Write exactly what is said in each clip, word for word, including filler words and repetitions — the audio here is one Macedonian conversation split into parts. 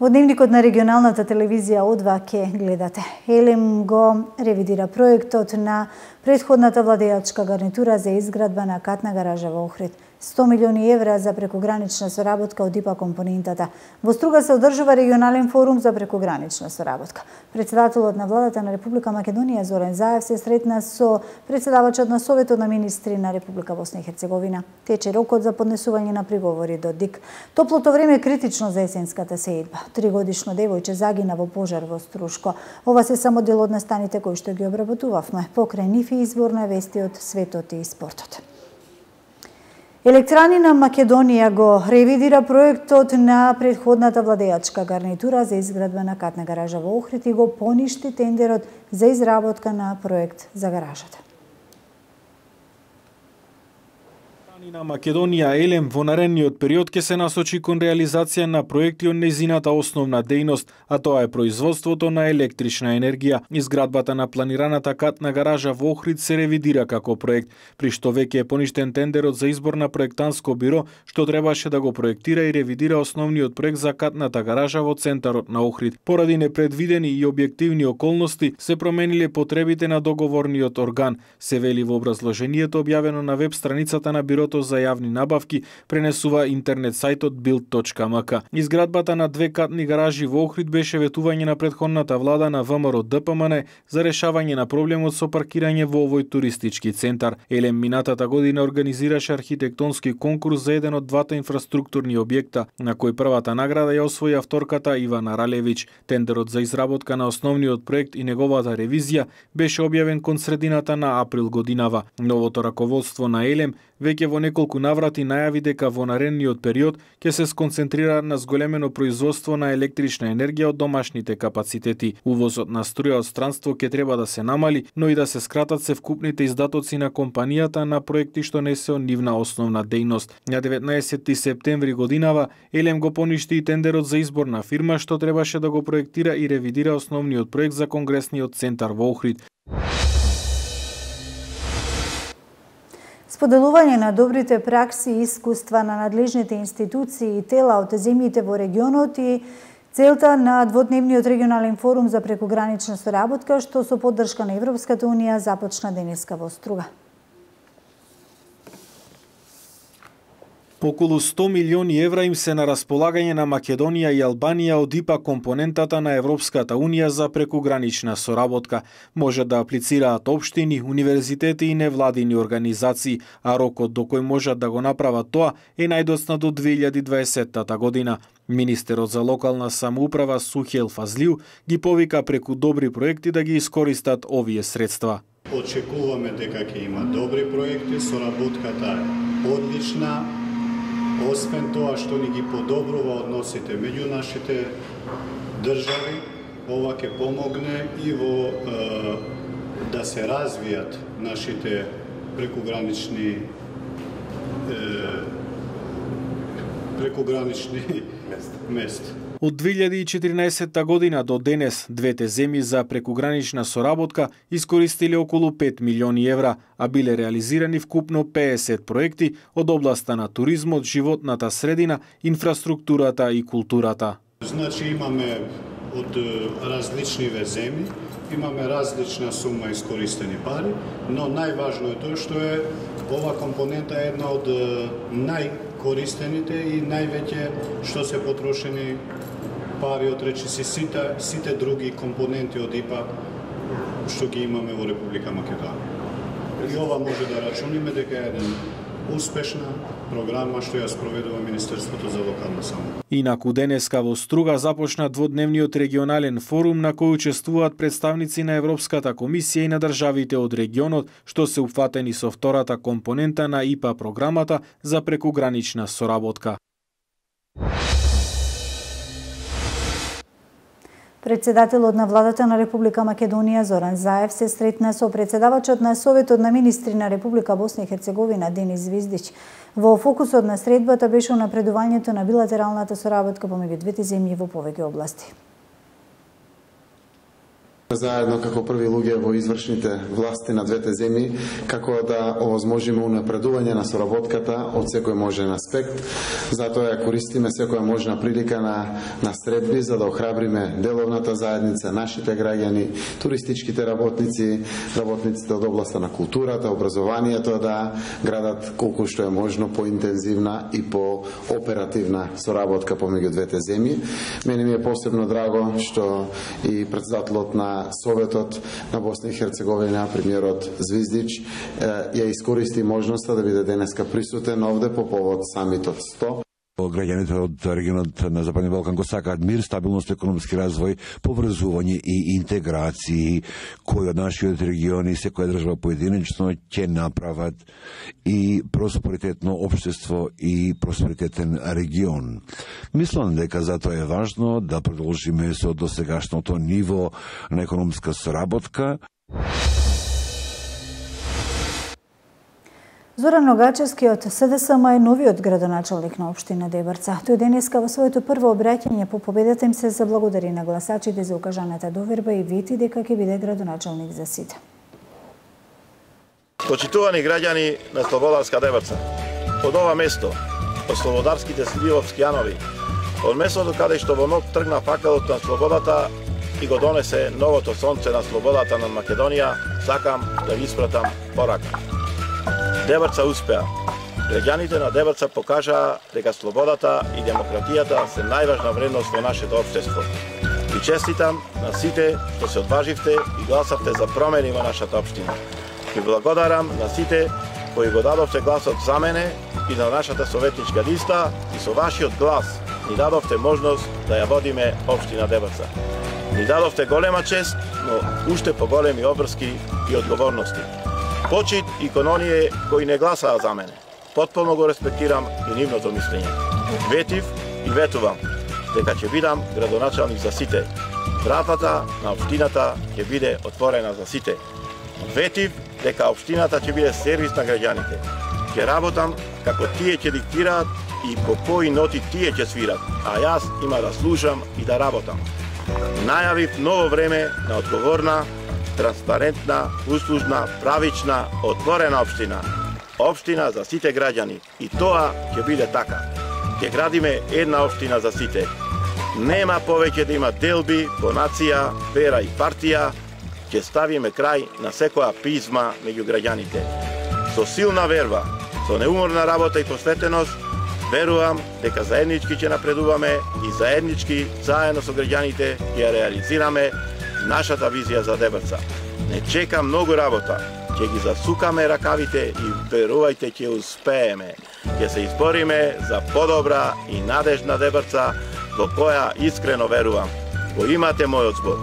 Во дневникот на регионалната телевизија О два ке гледате. Елем го ревидира проектот на претходната владеачка гарнитура за изградба на катна гаража во Охрид. сто милиони евра за прекогранична соработка од ИПА компонентата. Во Струга се одржува регионален форум за прекогранична соработка. Председателот на владата на Република Македонија Зоран Заев се сретна со председавачот на Советот на министри на Република Босна и Херцеговина. Тече рокот за поднесување на приговори до ДИК. Топлото време е критично за есенската сеидба. Тригодишно девојче загина во пожар во Струшко. Ова се само дел од настаните кои што ги обработувавме. Покрај нив и избор на вести од светот и спортот. Електранина Македонија го ревидира проектот на претходната владеачка гарнитура за изградба на катна гаража во Охрид и го поништи тендерот за изработка на проект за гаражата. На Македонија Елем во наредниот период ќе се насочи кон реализација на проекти од нејзината основна дејност, а тоа е производството на електрична енергија. Изградбата на планираната катна гаража во Охрид се ревидира како проект, при што веќе е поништен тендерот за избор на проектанско биро, што требаше да го проектира и ревидира основниот проект за катната гаража во центарот на Охрид. Поради непредвидени и објективни околности се промениле потребите на договорниот орган, се вели во образложението објавено на веб страницата на бирото за јавни набавки, пренесува интернет сајтот билд точка ем ка. Изградбата на две катни гаражи во Охрид беше ветување на претходната влада на ВМРО Д П М Н за решавање на проблемот со паркирање во овој туристички центар. Елем минатата година организираше архитектонски конкурс за еден од двата инфраструктурни објекта, на кој првата награда ја освои авторката Ивана Ралевич. Тендерот за изработка на основниот проект и неговата ревизија беше објавен кон средината на април годинава. Новото раководство на Елем веќе во неколку наврати најави дека во наредниот период ќе се сконцентрира на зголемено производство на електрична енергија од домашните капацитети. Увозот на струја од странство ќе треба да се намали, но и да се скратат севкупните издатоци на компанијата на проекти што не се од нивна основна дејност. На деветнаесетти септември годинава Елем го поништи и тендерот за избор на фирма што требаше да го проектира и ревидира основниот проект за конгресниот центар во Охрид. Споделување на добрите пракси и искуства на надлежните институции и тела од земјите во регионот и целта на дводневниот регионален форум за прекогранична соработка што со поддршка на Европската унија започна денеска во Струга. Околу сто милиони евра им се на располагање на Македонија и Албанија од ИПА компонентата на Европската унија за прекогранична соработка. Може да аплицираат општини, универзитети и невладини организации, а рокот до кој можат да го направат тоа е најдоцна до две илјади и дваесетта година. Министерот за локална самоуправа Сухел Фазлиу ги повика преку добри проекти да ги искористат овие средства. Очекуваме дека ќе има добри проекти, соработката е одлична. Освен тоа што ни ги подобрува односите меѓу нашите држави, ова ќе помогне и во е, да се развијат нашите прекогранични е, прекогранични места. Од две илјади и четиринаесетта година до денес, двете земји за прекогранична соработка искористиле околу пет милиони евра, а биле реализирани вкупно пеесет проекти од областа на туризмот, животната средина, инфраструктурата и културата. Значи имаме од различниве земји, имаме различна сума искористени пари, но најважно е тоа што е ова компонента е една од најкористените и највеќе што се потрошени пари од речиси сите, сите други компоненти од ИПА што ги имаме во Република Македонија. И ова може да рачуниме дека е еден успешна програма што ја спроведува Министерството за локална самоуправа. Инаку денеска во Струга започна дводневниот регионален форум на кој учествуваат представници на Европската комисија и на државите од регионот што се упфатени со втората компонента на ИПА програмата за прекогранична соработка. Председателот на владата на Република Македонија Зоран Заев се сретна со председавачот на Советот на министри на Република Босна и Херцеговина Денис Звиздич. Во фокусот на средбата беше напредувањето на билатералната соработка помеѓу двете земји во повеќе области. Заедно како први луѓе во извршните власти на двете земји, како да овозможиме унапредување на соработката од секој можен аспект. Затоа ја користиме секоја можна прилика на, на средби, за да охрабриме деловната заедница, нашите граѓани, туристичките работници, работниците од областа на културата, образованието, да градат колку што е можно поинтензивна и по оперативна соработка помеѓу двете земји. Мене ми е посебно драго што и председателот на Советот на Босна и Херцеговина, премиерот Звиздич, ја искористи можноста да биде денеска присутен овде по повод самитот сто. Граѓаните од регионот на Западни Балкан го сакаат мир, стабилност, економски развој, поврзување и интеграции, кои од нашиот региони, секоја држава поединечно ќе направат и просперитетно општество и просперитетен регион. Мислам дека затоа е важно да продолжиме со досегашното ниво на економска соработка. Зоран Ногачевски од СДСМ е новиот градоначалник на општина Дебрца. Тој денеска во своето прво обраќање по победата им се заблагодари на гласачите за укажаната доверба и вети дека ќе биде градоначалник за сите. Почитувани граѓани на Слободарска Дебрца, од ова место, од слободарските сливовски јанови, од местото каде што во ног тргна факелот на слободата и го донесе новото сонце на слободата на Македонија, сакам да ви испратам порака. Дебрца успеа. Граѓаните на Дебрца покажаа дека слободата и демократијата се најважна вредност во нашето општество. Ви честитам на сите што се одваживте и гласавте за промени во нашата општина. Ви благодарам на сите кои го дадовте гласот за мене и на нашата советничка листа и со вашиот глас ни дадовте можност да ја водиме општина Дебрца. Ни дадовте голема чест, но уште поголеми обврски и одговорности. Почит и кон оние кои не гласаа за мене. Потполно го респектирам и нивното мислење. Ветив и ветувам дека ќе бидам градоначалник за сите. Вратата на општината ќе биде отворена за сите. Ветив дека општината ќе биде сервис на граѓаните. Ќе работам како тие ќе диктираат и по кои ноти тие ќе свират, а јас има да слушам и да работам. Најавив ново време на одговорна, транспарентна, услужна, правична, отворена општина. Општина за сите граѓани. И тоа ќе биде така. Ќе градиме една општина за сите. Нема повеќе да има делби по нација, вера и партија. Ќе ставиме крај на секоја пизма меѓу граѓаните. Со силна верба, со неуморна работа и посветеност, верувам дека заеднички ќе напредуваме и заеднички, заедно со граѓаните, ќе реализираме нашата визија за Дебрца. Не чека многу работа, ќе ги засукаме ракавите и верувајте ќе успееме. Ќе се избориме за подобра и надежна Дебрца во која искрено верувам. Го имате мојот збор.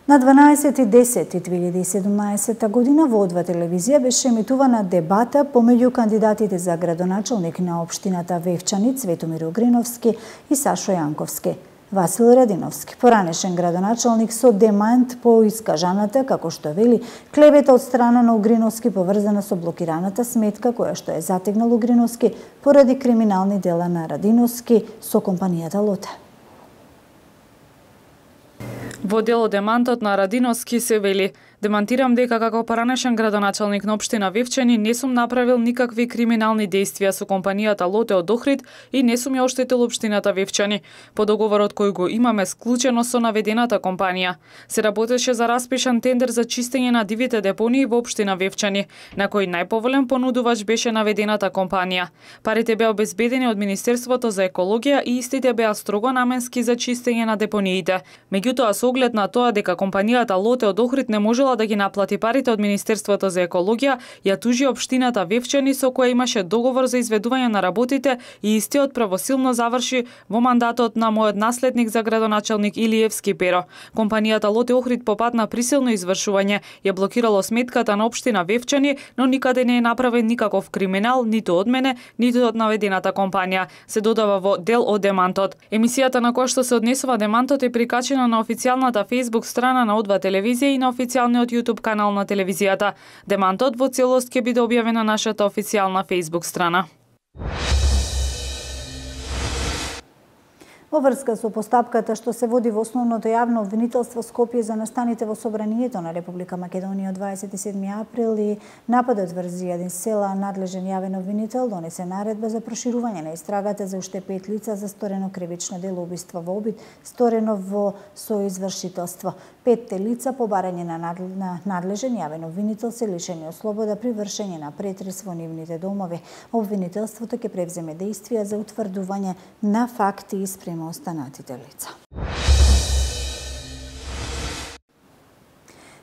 На дванаесети десети две илјади и седумнаесета година во Одва телевизија беше емитувана дебата помеѓу кандидатите за градоначалник на општината Вевчани Цветомир Огриновски и Сашо Јанковски. Васил Радиновски, поранешен градоначалник со демант по искажаната, како што вели, клевета од страна на Огриновски поврзана со блокираната сметка која што е затегнал Огриновски поради криминални дела на Радиновски со компанијата Лоте. Во дело демантот на Радиновски се вели: демантирам дека како поранешен градоначалник на општина Вевчани не сум направил никакви криминални действија со компанијата Лоте од Охрид и не сум ја оштетил општината Вевчани. По договорот кој го имаме склучено со наведената компанија, се работеше за распишан тендер за чистење на дивите депонии во општина Вевчани, на кој најповолен понудувач беше наведената компанија. Парите беа обезбедени од Министерството за екологија и истите беа строго наменски за чистење на депониите. Меѓутоа, со оглед на тоа дека компанијата Лоте од Охрид не можела да ги наплати парите од Министерството за екологија, ја тужи општината Вевчани со која имаше договор за изведување на работите и истиот правосилно заврши во мандатот на мојот наследник за градоначалник Илиевски Перо. Компанијата Лоте Охрид по пат на присилно извршување ја блокирало сметката на општина Вевчани, но никаде не е направен никаков криминал ниту од мене, ниту од наведената компанија, се додава во дел од демантот. Емисијата на која што се однесува демантот е прикачена на официјалната Facebook страна на Одва телевизија и на официјалниот YouTube канал на телевизијата. Демантот во целост ќе биде објавен на нашата официјална Facebook страна. Во врска со постапката што се води во основното јавно обвинителство Скопје за настаните во собранието на Република Македонија од дваесет и седми април и нападот врз Јадин Села, надлежен јавен обвинител донесе наредба за проширување на истрагата за уште пет лица за сторено кривично дело убиство во обид, сторено во соизвршителство. Петте лица по барање на надлежен јавен обвинител се лишени од слобода при вршење на претрес во нивните домови. Обвинителството ќе превземе дејствија за утврдување на факти и спрема останатите лица.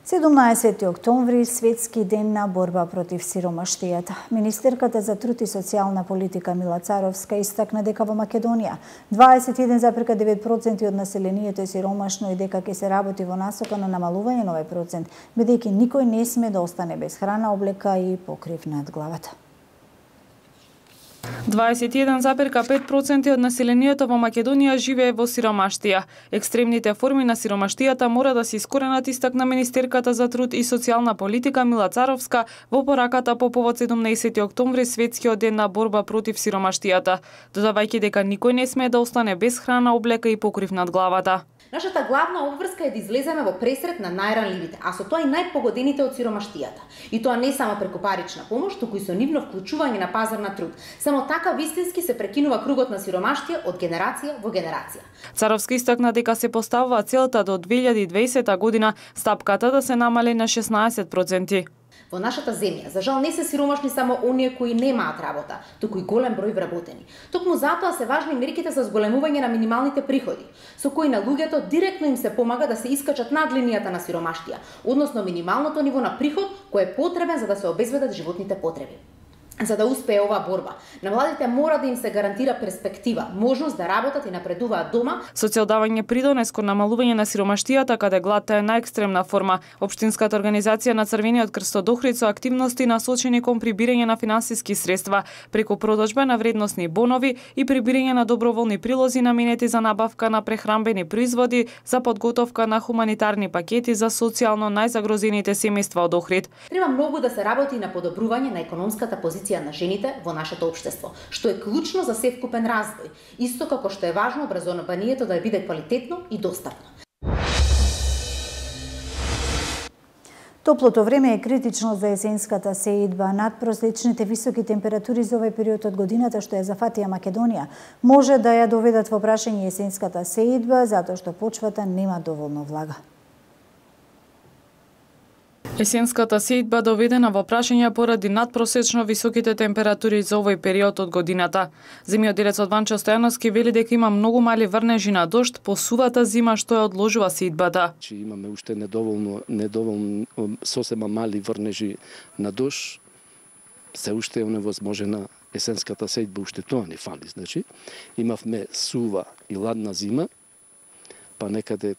седумнаесети октомври, светски ден на борба против сиромаштијата. Министерката за труд и социјална политика Мила Царовска истакна дека во Македонија дваесет и еден зарез девет проценти од населението е сиромашно и дека ќе се работи во насока на намалување на овој процент, бидејќи никој не сме да остане без храна, облека и покрив над главата. дваесет и еден зарез пет проценти од населението во Македонија живее во сиромаштија. Екстремните форми на сиромаштијата мора да се искоренат, истакна Министерката за труд и социјална политика Мила Царовска во пораката по повод седумнаесети октомври, светскиот ден на борба против сиромаштијата, додавајќи дека никој не смее да остане без храна, облека и покрив над главата. Нашата главна обврска е да излеземе во пресрет на најранливите, а со тоа и најпогодените од сиромаштијата. И тоа не само преку парична помош, туку и со нивно вклучување на пазар на труд. Само така вистински се прекинува кругот на сиромаштија од генерација во генерација. Царовска истакна дека се поставува целта до две илјади и дваесета година стапката да се намали на шеснаесет проценти. Во нашата земја, за жал, не се сиромашни само оние кои немаат работа, туку и голем број вработени. Токму затоа се важни мерките за зголемување на минималните приходи, со кои на луѓето директно им се помага да се искачат над линијата на сиромаштија, односно минималното ниво на приход кој е потребен за да се обезбедат животните потреби. За да успее оваа борба, на младите мора да им се гарантира перспектива, можност да работат и напредуваат дома. Со цел давање придонес кон намалување на сиромаштијата, каде гладта е најекстремна форма, Општинската организација на Црвениот крст од Охрид со активности насочени кон прибирање на финансиски средства преку продажба на вредносни бонови и прибирање на доброволни прилози наменети за набавка на прехранбени производи за подготовка на хуманитарни пакети за социјално најзагрозените семејства од Охрид. Треба многу да се работи на подобрување на економската позиција на жените во нашето општество, што е клучно за севкупен развој, исто како што е важно образованието да биде квалитетно и достапно. Топлото време е критично за есенската сеидба. Надпросечните високи температури за овој период од годината што ја зафатија Македонија може да ја доведат во прашање есенската сеидба затоа што почвата нема доволно влага. Есенската сеидба доведена во прашање поради надпросечно високите температури за овој период од годината. Земјоделецот Ванчо Стојановски вели дека има многу мали врнежи на дожд по сувата зима што ја одложува сеидбата. Че имаме уште недоволно, недоволно сосема мали врнежи на дожд, се уште е невозможена есенската сеидба, уште тоа не фали. Значи, имавме сува и ладна зима, па некаде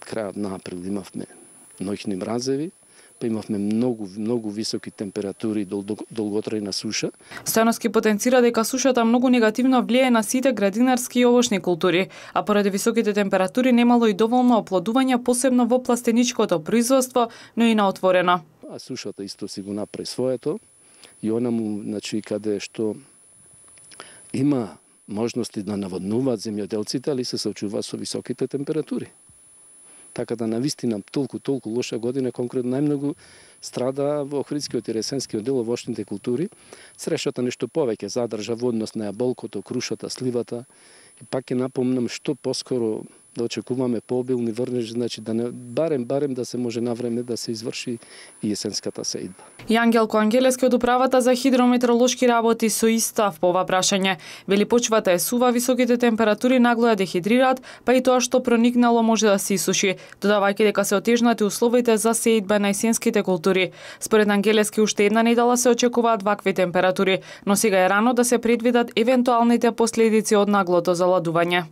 крајот на април имавме ноќни мразеви, па имавме многу многу високи температури и долготрајна суша. Стојановски потенцира дека сушата многу негативно влијае на сите градинарски и овошни култури, а поради високите температури немало и доволно оплодување, посебно во пластеничкото производство, но и на отворено. А сушата исто си го направи своето и она му, значи, каде што има можности да наводнуваат земјоделците, али се соочува со високите температури. Така да навистина толку толку лоша година, конкретно најмногу страда во Охридскиот и Ресенскиот дел овошните култури. Срешата нешто повеќе задржа во однос на јаболкото, крушата, сливата. И пак ќе напомнам што поскоро да очекуваме пообилни врнежи, значи да не барем барем да се може на време да се изврши и есенската сеидба. Јангелко Ангелески од управата за хидрометеоролошки работи со истав по ова прашање. Вели почвата е сува, високите температури нагло ја дехидрираат, па и тоа што проникнало може да се исуши, додавајќи дека се отежнати условите за сеидба на есенските култури. Според Ангелески уште една недела се очекуваат вакви температури, но сега е рано да се предвидат евентуалните последици од наглото заладување.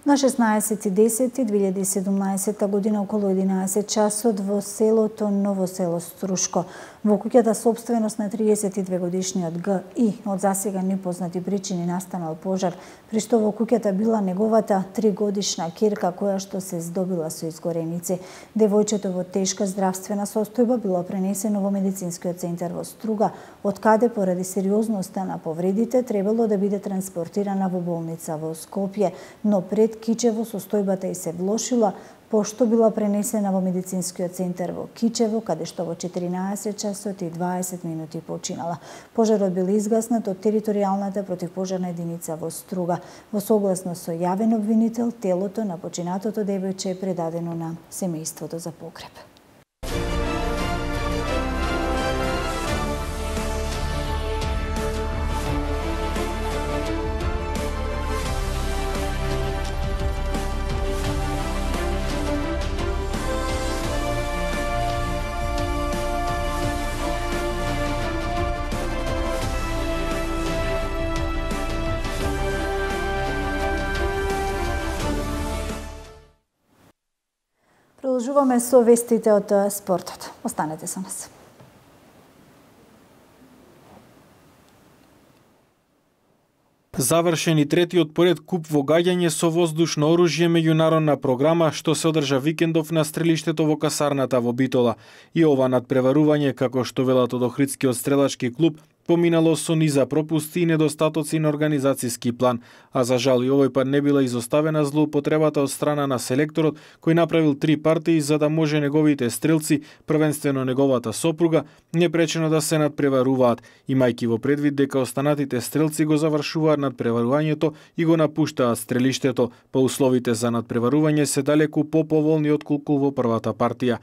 На шеснаесети десети две илјади и седумнаесета година околу единаесет часот во селото Ново село Струшко Во куќата сопственост на триесет и две годишниот Г И од засега непознати причини настанал пожар, при што во куќата била неговата тригодишна ќерка која што се здобила со изгореници. Девојчето во тешка здравствена состојба било пренесено во медицинскиот центар во Струга, од каде поради сериозноста на повредите требало да биде транспортирана во болница во Скопје, но пред Кичево состојбата и се влошила, пошто била пренесена во медицинскиот центар во Кичево, каде што во четиринаесет часот и дваесет минути починала. Пожарот бил изгаснат од територијалната противпожарна единица во Струга. Во согласност со јавен обвинител, телото на починатото девојче е предадено на семејството за погреб. Продолжуваме со вестите од спортот. Останете со нас. Завршен и третиот поред куп во гаѓање со воздушно оружје меѓународна програма што се одржа викендов на стрелиштето во касарната во Битола. И ова надпреварување, како што велат од Охридскиот стрелачки клуб, поминало со низа пропусти и недостатоци на организацијски план, а за жал и овој пат не била изоставена злоупотребата од страна на селекторот кој направил три партии за да може неговите стрелци, првенствено неговата сопруга, непречено да се надпреваруваат, имајќи во предвид дека останатите стрелци го завршуваат надпреварувањето и го напуштаат стрелиштето, па условите за надпреварување се далеку поповолни отколку во првата партија.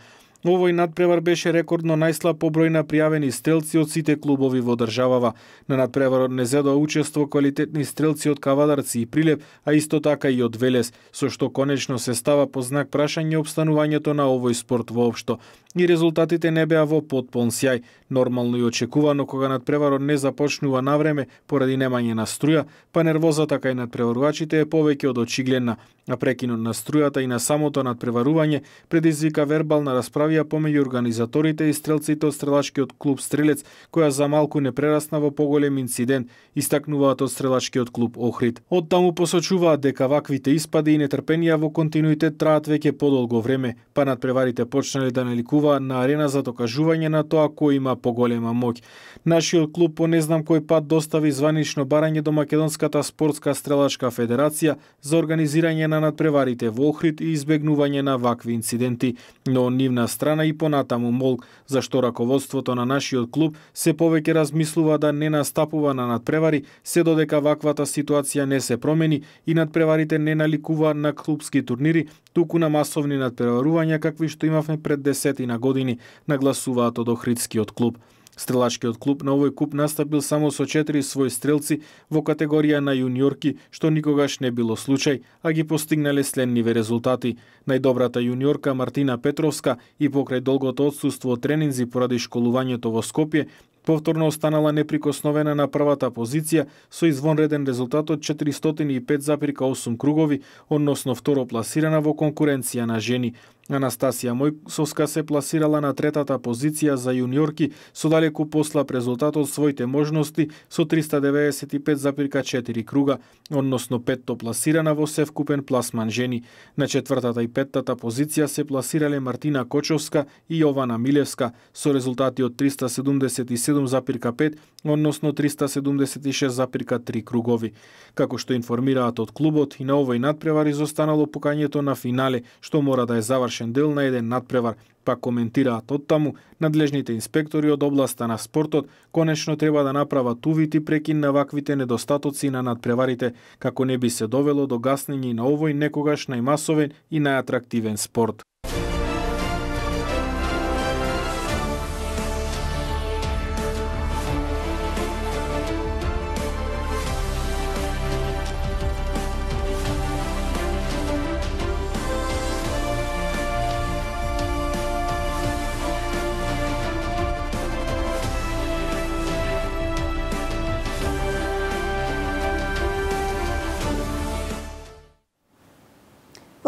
Овој надпревар беше рекордно најслаб по број на пријавени стрелци од сите клубови во државава. На надпреварот не зедоа учество квалитетни стрелци од Кавадарци и Прилеп, а исто така и од Велес, со што конечно се става по знак прашање обстанувањето на овој спорт воопшто. И резултатите не беа во потполн сјај. Нормално и очекувано кога надпреварот не започнува на време поради немање на струја, па нервозата кај надпреварувачите е повеќе од очигледна, а прекинот на струјата и на самото надпреварување предизвика вербална расправија помеѓу организаторите и стрелците од стрелачкиот клуб Стрелец, која за малку не прерасна во поголем инцидент, истакнуваат од стрелачкиот клуб Охрид. Од таму посочуваат дека ваквите испади и нетрпенија во континуитет траат веќе подолго време, па надпреварите почнале да наликуваат на арена за докажување на тоа кој има поголема моќ. Нашиот клуб по не знам кој пат достави званично барање до Македонската спортска стрелачка федерација за организирање на надпреварите во Охрид и избегнување на вакви инциденти, но нивна страна и понатаму молк, зашто раководството на нашиот клуб се повеќе размислува да не настапува на надпревари, се додека ваквата ситуација не се промени и надпреварите не наликуваат на клубски турнири, туку на масовни надпреварувања какви што имавме пред десетина години, нагласуваат од Охридскиот клуб. Стрелачкиот клуб на овој куп настапил само со четири своји стрелци во категорија на јуниорки, што никогаш не било случај, а ги постигнале следниве резултати. Најдобрата јуниорка Мартина Петровска и покрај долгото отсуство од тренинзи поради школувањето во Скопје, повторно останала неприкосновена на првата позиција со извонреден резултат од четиристотини и пет запирка осум кругови, односно второ пласирана во конкуренција на жени. Анастасија Мојсовска се пласирала на третата позиција за јуниорки со далеку послаб резултат од своите можности со триста деветдесет и пет запирка четири круга, односно петто пласирана во севкупен пласман жени. На четвртата и петтата позиција се пласирале Мартина Кочовска и Јована Милевска со резултати од триста седумдесет и седум запирка пет, односно триста седумдесет и шест запирка три кругови. Како што информираат од клубот, и на овој надпревар изостанало покањето на финале, што мора да е завршен дел на еден надпревар, па коментираат од таму, надлежните инспектори од областа на спортот конечно треба да направат увид и прекин на ваквите недостатоци на надпреварите, како не би се довело до гаснење на овој некогаш најмасовен и најатрактивен спорт.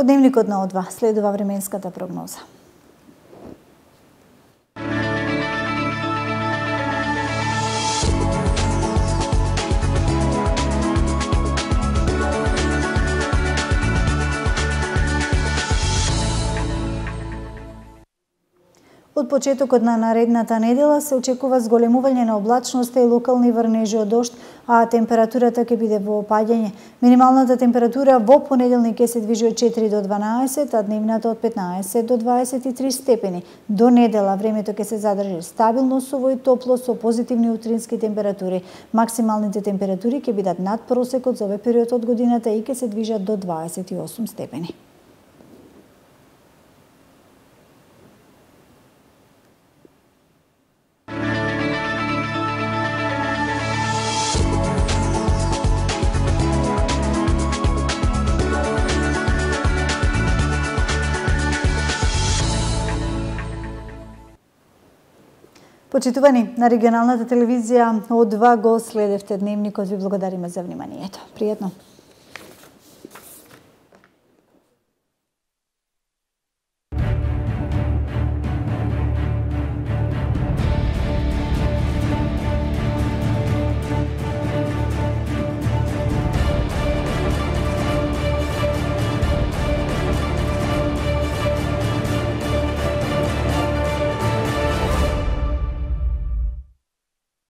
Од дневникот на О два следува временската прогноза. Од почетокот на наредната недела се очекува зголемување на облачноста и локални врнежи од дожд, а температурата ќе биде во опаѓање. Минималната температура во понеделник ќе се движи од четири до дванаесет, а дневната од петнаесет до дваесет и три степени. До недела времето ќе се задржи стабилно, суво и топло со позитивни утрински температури. Максималните температури ќе бидат над просекот за овој период од годината и ќе се движат до дваесет и осум степени. Почитувани, на регионалната телевизија од два го следевте дневникот. Ви благодариме за вниманието. Пријатно!